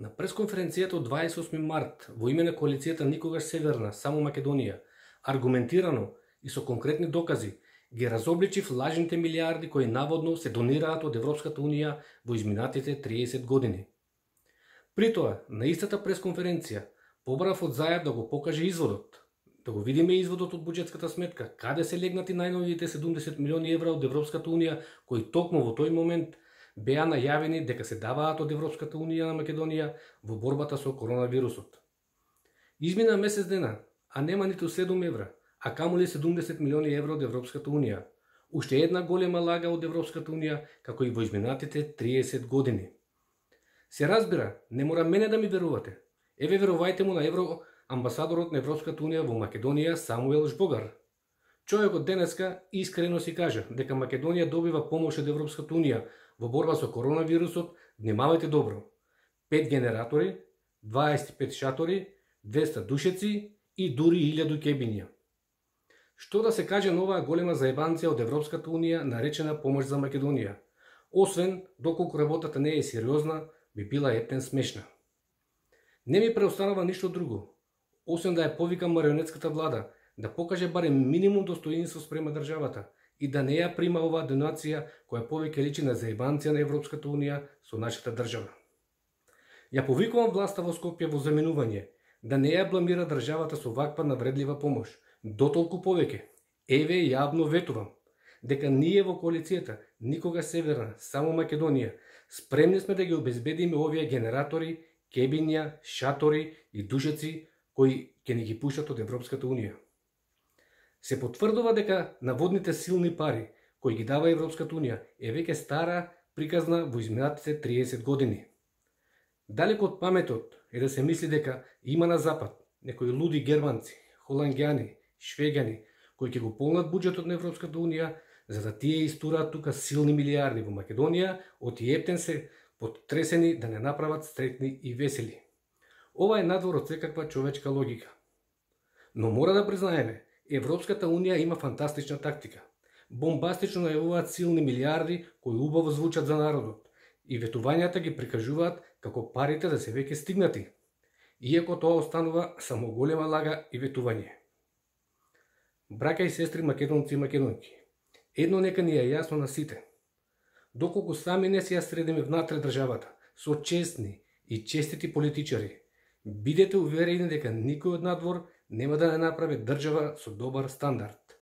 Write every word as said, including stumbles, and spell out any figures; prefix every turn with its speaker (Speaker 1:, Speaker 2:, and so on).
Speaker 1: На пресконференцијата од дваесет и осми март во име на коалицијата Никогаш Северна, само Македонија, аргументирано и со конкретни докази ги разобличив лажните милиарди кои наводно се донираат од Европската Унија во изминатите триесет години. При тоа, на истата пресконференција, побрав од Заев да го покаже изводот, да го видиме изводот од буџетската сметка, каде се легнати најновите седумдесет милиони евра од Европската Унија, кои токму во тој момент беа најавени дека се даваат од Европската Унија на Македонија во борбата со коронавирусот. Измина месец дена, а нема ниту седум евра, а камоли седумдесет милиони евра од Европската Унија. Уште една голема лага од Европската Унија, како и во изминатите триесет години. Се разбира, не мора мене да ми верувате. Еве верувајте му на евро амбасадорот на Европската Унија во Македонија Самуел Жбогар. Човекот денеска искрено си кажа дека Македонија добива помош од Европската Унија во борба со коронавирусот. Внимавајте добро. пет генератори, дваесет и пет шатори, двеста душеци и дури илјаду кебиња. Што да се каже на оваа голема заебанција од Европската Унија наречена помош за Македонија? Освен, доколку работата не е сериозна, би била ептен смешна. Не ми преостанува ништо друго, освен да ја повикам марионетската влада да покаже барем минимум достоинство спрема државата и да не ја прима оваа донација која повеќе личи на заебанција на Европската Унија со нашата држава. Ја повикувам власта во Скопје во заменување да не ја бламира државата со ваква навредлива помош. Дотолку повеќе, еве јавно ветувам дека ние во коалицијата Никогаш Северна, само Македонија, спремни сме да ги обезбедиме овие генератори, кебиња, шатори и душеци кои ќе ни ги пуштат од Европската Унија. Се потврдува дека наводните силни пари кои ги дава Европската Унија е веќе стара приказна во изминатите триесет години. Далеко од паметот е да се мисли дека има на запад некои луди германци, холанѓани, швеѓани кои ќе го полнат буџетот на Европската Унија за да тие истураат тука силни милиарди во Македонија, оти ептен се потресени да не направат сретни и весели. Ова е надвор од секаква човечка логика. Но мора да признаеме, Европската Унија има фантастична тактика. Бомбастично најавуваат силни милиарди кои убаво звучат за народот и ветувањата ги прикажуваат како парите да се веќе стигнати, иако тоа останува само голема лага и ветување. Браќа и сестри македонци и македонки, едно нека ни е јасно на сите. Доколку сами не си ја средиме внатре државата со честни и честити политичари, бидете уверени дека никој од надвор нема да не направи држава со добар стандард.